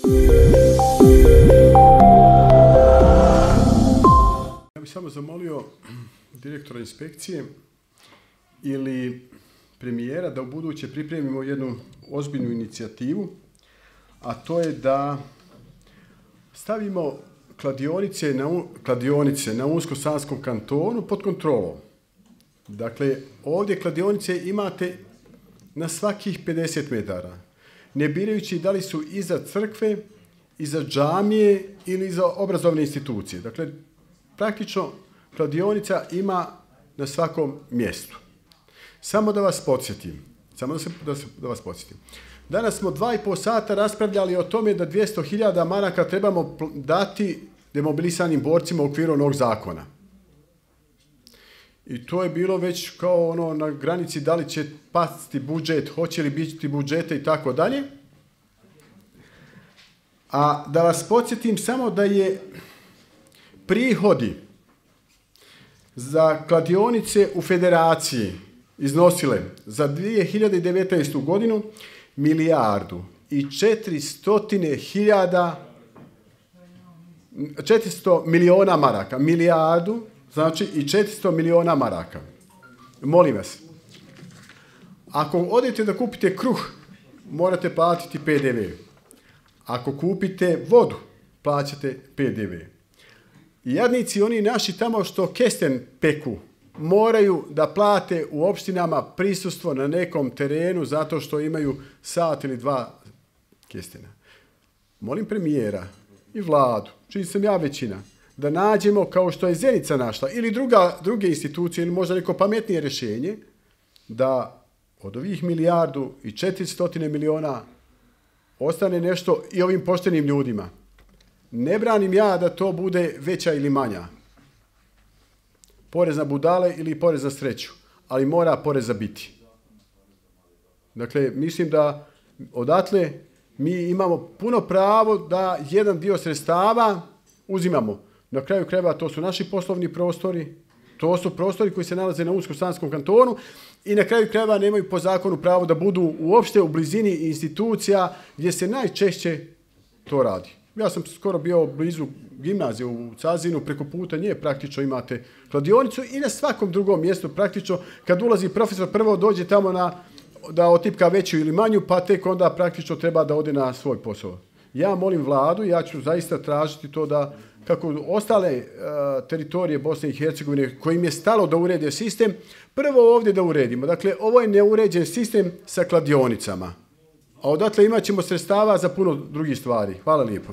Ja bih samo zamolio direktora inspekcije ili premijera da ubuduće pripremimo jednu ozbiljnu inicijativu, a to je da stavimo kladionice na Unsko-sanskom kantonu pod kontrolom. Dakle, ovdje kladionice imate na svakih 50 metara, ne birajući da li su iza crkve, iza džamije ili iza obrazovne institucije. Dakle, praktično kladionica ima na svakom mjestu. Samo da vas podsjetim, danas smo 2,5 sata raspravljali o tome da 200.000 maraka trebamo dati demobilisanim borcima u okviru onog zakona. I to je bilo već kao ono na granici da li će pasti budžet, hoće li biti budžete i tako dalje. A da vas podsjetim samo da je prihodi za kladionice u federaciji iznosile za 2019. godinu 400 milijuna maraka. Milijardu, znači i 400 milijuna maraka. Molim vas, ako odete da kupite kruh, morate platiti PDV. Ako kupite vodu, plaćate PDV. Jadnici, oni naši tamo što kesten peku, moraju da plate u opštinama prisustvo na nekom terenu zato što imaju sat ili dva kestena. Molim premijera i vladu, čiji sam ja većina, da nađemo kao što je Zenica našla ili druge institucije ili možda neko pametnije rješenje da od ovih 1.400 milijuna ostane nešto i ovim poštenim ljudima. Ne branim ja da to bude veća ili manja. Porez na budale ili porez na sreću, ali mora poreza biti. Dakle, mislim da odatle mi imamo puno pravo da jedan dio sredstava uzimamo. Na kraju krajeva to su naši poslovni prostori, to su prostori koji se nalaze na Unsko-sanskom kantonu i na kraju krajeva nemaju po zakonu pravo da budu uopšte u blizini institucija gdje se najčešće to radi. Ja sam skoro bio blizu gimnazije u Cazinu, preko puta nje praktično imate kladionicu i na svakom drugom mjestu praktično kad ulazi profesor prvo dođe tamo da otipka veću ili manju, pa tek onda praktično treba da ode na svoj posao. Ja molim vladu, ja ću zaista tražiti to da kako ostale teritorije Bosne i Hercegovine kojim je stalo da urede sistem, prvo ovdje da uredimo. Dakle, ovo je neuređen sistem sa kladionicama. A odatle imat ćemo sredstava za puno drugih stvari. Hvala lijepo.